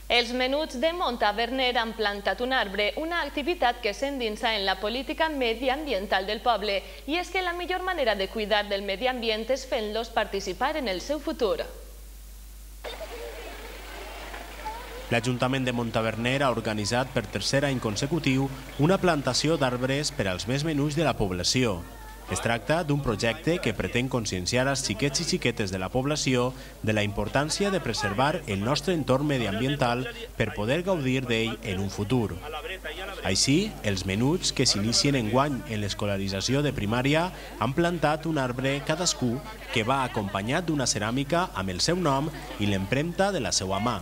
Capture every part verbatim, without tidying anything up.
Els menuts de Montaverner han plantat un arbre, una activitat que s'endinsa en la política mediambiental del poble. I és que la millor manera de cuidar del medi ambient és fent-los participar en el seu futur. L'Ajuntament de Montaverner ha organitzat per tercer any consecutiu una plantació d'arbres per als més menuts de la població. Es tracta d'un projecte que pretén conscienciar als xiquets i xiquetes de la població de la importància de preservar el nostre entorn mediambiental per poder gaudir d'ell en un futur. Així, els menuts que s'inicien enguany en l'escolarització de primària han plantat un arbre cadascú que va acompanyat d'una ceràmica amb el seu nom i l'empremta de la seva mà.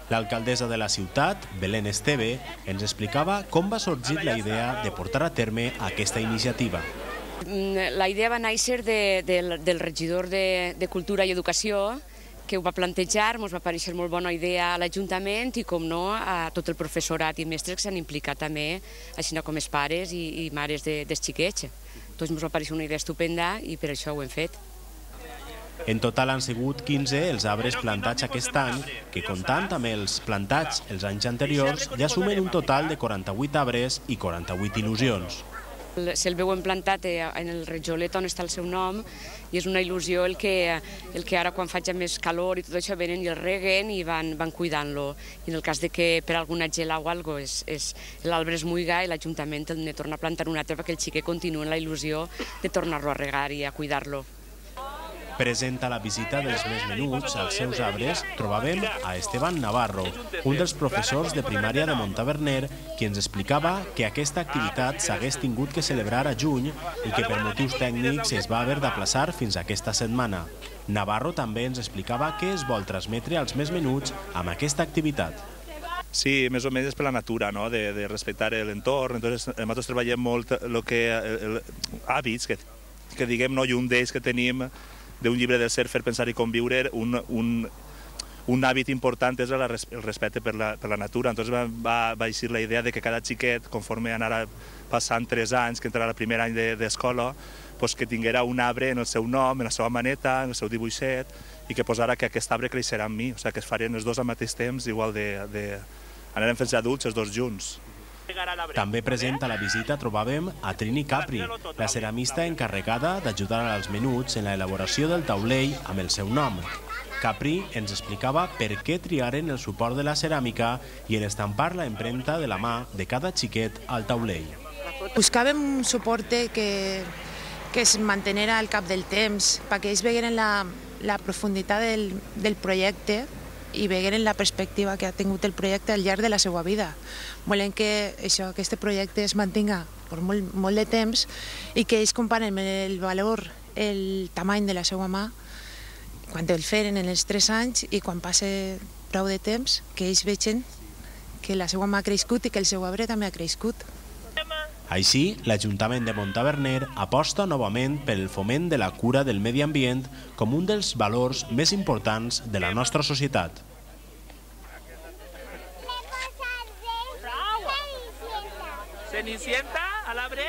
L'alcaldessa de la ciutat, Belén Esteve, ens explicava com va sorgir la idea de portar a terme aquesta iniciativa. La idea va néixer de, de, del regidor de, de Cultura i Educació, que ho va plantejar, ens va parèixer molt bona idea a l'Ajuntament i, com no, a tot el professorat i mestres que s'han implicat també, així com els pares i, i mares de, dels xiquets. Doncs ens va parèixer una idea estupenda i per això ho hem fet. En total han sigut quinze els arbres plantats aquest any, que comptant amb els plantats els anys anteriors ja sumen un total de quaranta-vuit arbres i quaranta-vuit il·lusions. Se'l veuen plantat en el rejolet on està el seu nom i és una il·lusió el que, el que ara quan faig més calor i tot això venen i el reguen i van, van cuidant-lo. I en el cas de que per alguna gela o alguna cosa l'arbre es muiga i l'Ajuntament el torna a plantar un altre perquè el xiquet continua en la il·lusió de tornar-lo a regar i a cuidar-lo. Present a la visita dels més menuts als seus arbres, trobàvem a Esteban Navarro, un dels professors de primària de Montaverner, qui ens explicava que aquesta activitat s'hagués tingut que celebrar a juny i que per motius tècnics es va haver d'aplaçar fins a aquesta setmana. Navarro també ens explicava què es vol transmetre als més menuts amb aquesta activitat. Sí, més o menys és per la natura, no? de, de respectar l'entorn. Entonces, nosaltres treballem molt el que, el, el, hàbits que, que diguem, no? I un d'ells que tenim d'un llibre del Ser, Fer, Pensar i Conviure, un, un, un hàbit important és el respecte per la, per la natura. Entonces va, va, va eixir la idea de que cada xiquet, conforme anara passant tres anys, que entrarà al primer any d'escola, pues que tinguera un arbre en el seu nom, en la seva maneta, en el seu dibuixet, i que posara que aquest arbre creixerà amb mi, o sigui, que es farien els dos al mateix temps, igual de... de... anarem fent adults els dos junts. També present a la visita trobàvem a Trini Capri, la ceramista encarregada d'ajudar als menuts en l'elaboració del taulell amb el seu nom. Capri ens explicava per què triaren el suport de la ceràmica i en estampar la empremta de la mà de cada xiquet al taulell. Buscàvem un suport que, que es mantenera al cap del temps, perquè ells vegueren la, la profunditat del, del projecte i vegueren la perspectiva que ha tingut el projecte al llarg de la seva vida. Volem que això, aquest projecte es mantinga per molt, molt de temps i que ells comparen el valor, el tamany de la seva mà quan el feren en els tres anys i quan passe prou de temps, que ells vegin que la seva mà ha crescut i que el seu arbre també ha crescut. Així, l'Ajuntament de Montaverner aposta novament pel foment de la cura del medi ambient com un dels valors més importants de la nostra societat. Cenicienta, a l'arbre?